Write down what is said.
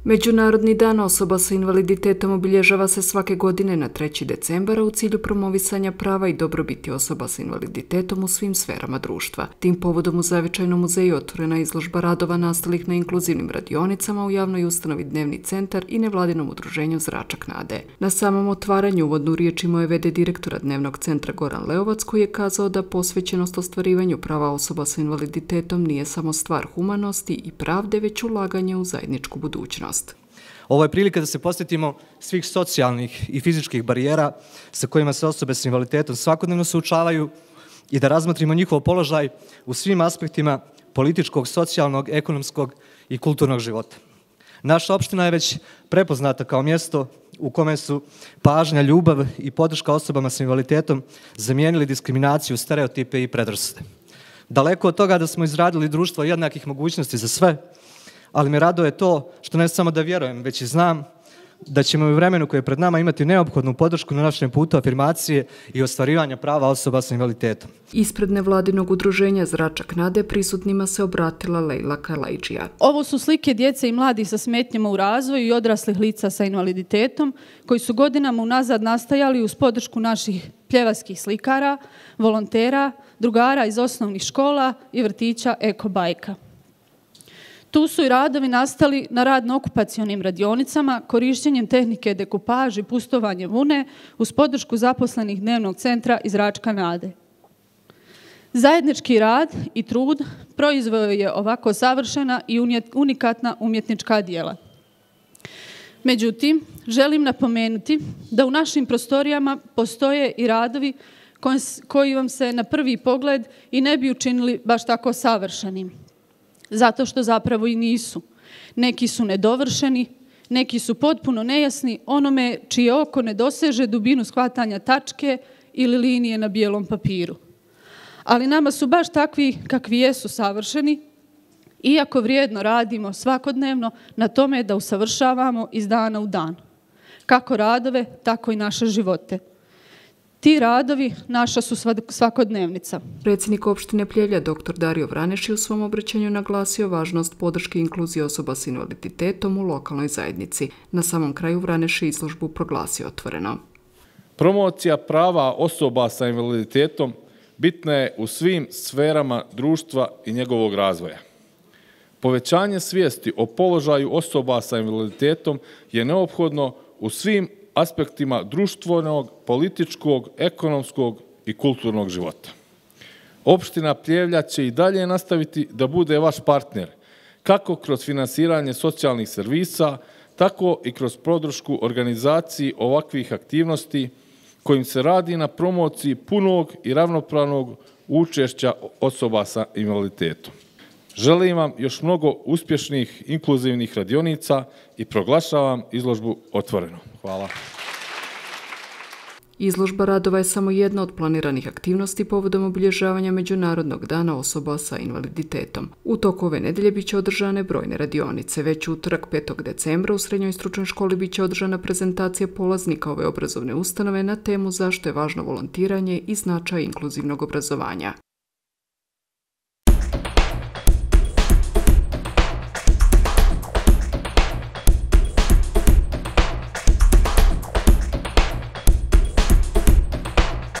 Međunarodni dan osoba sa invaliditetom obilježava se svake godine na 3. decembara u cilju promovisanja prava i dobrobiti osoba sa invaliditetom u svim sferama društva. Tim povodom u Zavičajnom muzeju otvorena je izložba radova nastalih na inkluzivnim radionicama u javnoj ustanovi Dnevni centar i nevladinom udruženju Zračak nade. Na samom otvaranju uvodnu riječ imao je v.d. direktora Dnevnog centra Goran Leovac, koji je kazao da posvećenost ostvarivanju prava osoba sa invaliditetom nije samo stvar humanosti i pravde, već ulaganje u zajedničku budućnost. Ovo je prilika da se posjetimo svih socijalnih i fizičkih barijera sa kojima se osobe s invaliditetom svakodnevno suočavaju i da razmotrimo njihov položaj u svim aspektima političkog, socijalnog, ekonomskog i kulturnog života. Naša opština je već prepoznata kao mjesto u kome su pažnja, ljubav i podrška osobama s invaliditetom zamijenili diskriminaciju, stereotipe i predrasude. Daleko od toga da smo izradili društvo jednakih mogućnosti za sve, ali me raduje to što ne samo da vjerujem, već i znam da ćemo u vremenu koje je pred nama imati neophodnu podršku na našem putu afirmacije i ostvarivanja prava osoba sa invaliditetom. Ispred nevladinog udruženja Zračak nade prisutnima se obratila Lejla Kalajđija. Ovo su slike djece i mladih sa smetnjama u razvoju i odraslih lica sa invaliditetom koji su godinama unazad nastajali uz podršku naših pljevačkih slikara, volontera, drugara iz osnovnih škola i vrtića Eko bajka. Tu su i radovi nastali na radno-okupacionim radionicama, korištenjem tehnike dekupaž i pustovanje vune uz podršku zaposlenih Dnevnog centra iz Zračka nade. Zajednički rad i trud proizveo je ovako savršena i unikatna umjetnička djela. Međutim, želim napomenuti da u našim prostorijama postoje i radovi koji vam se na prvi pogled i ne bi učinili baš tako savršenim. Zato što zapravo i nisu. Neki su nedovršeni, neki su potpuno nejasni onome čije oko ne doseže dubinu shvatanja tačke ili linije na bijelom papiru. Ali nama su baš takvi kakvi jesu savršeni, iako vrijedno radimo svakodnevno na tome da usavršavamo iz dana u dan. Kako radove, tako i naše živote. Ti radovi naša su svakodnevnica. Predsjednik opštine Pljevlja dr. Dario Vraneš je u svom obraćanju naglasio važnost podrške i inkluzije osoba s invaliditetom u lokalnoj zajednici. Na samom kraju Vraneš je izložbu proglasio otvoreno. Promocija prava osoba sa invaliditetom bitna je u svim sferama društva i njegovog razvoja. Povećanje svijesti o položaju osoba sa invaliditetom je neophodno u svim aspektima društvenog, političkog, ekonomskog i kulturnog života. Opština Pljevlja će i dalje nastaviti da bude vaš partner, kako kroz finansiranje socijalnih servisa, tako i kroz podršku organizaciji ovakvih aktivnosti kojim se radi na promociji punog i ravnopravnog učešća osoba sa invaliditetom. Želim vam još mnogo uspješnih inkluzivnih radionica i proglašavam izložbu otvorenu. Hvala. Izložba radova je samo jedna od planiranih aktivnosti povodom obilježavanja Međunarodnog dana osoba sa invaliditetom. U toku ove nedelje biće održane brojne radionice. Već u utorak 5. decembra u Srednjoj stručnoj školi biće održana prezentacija polaznika ove obrazovne ustanove na temu zašto je važno volontiranje i značaj inkluzivnog obrazovanja.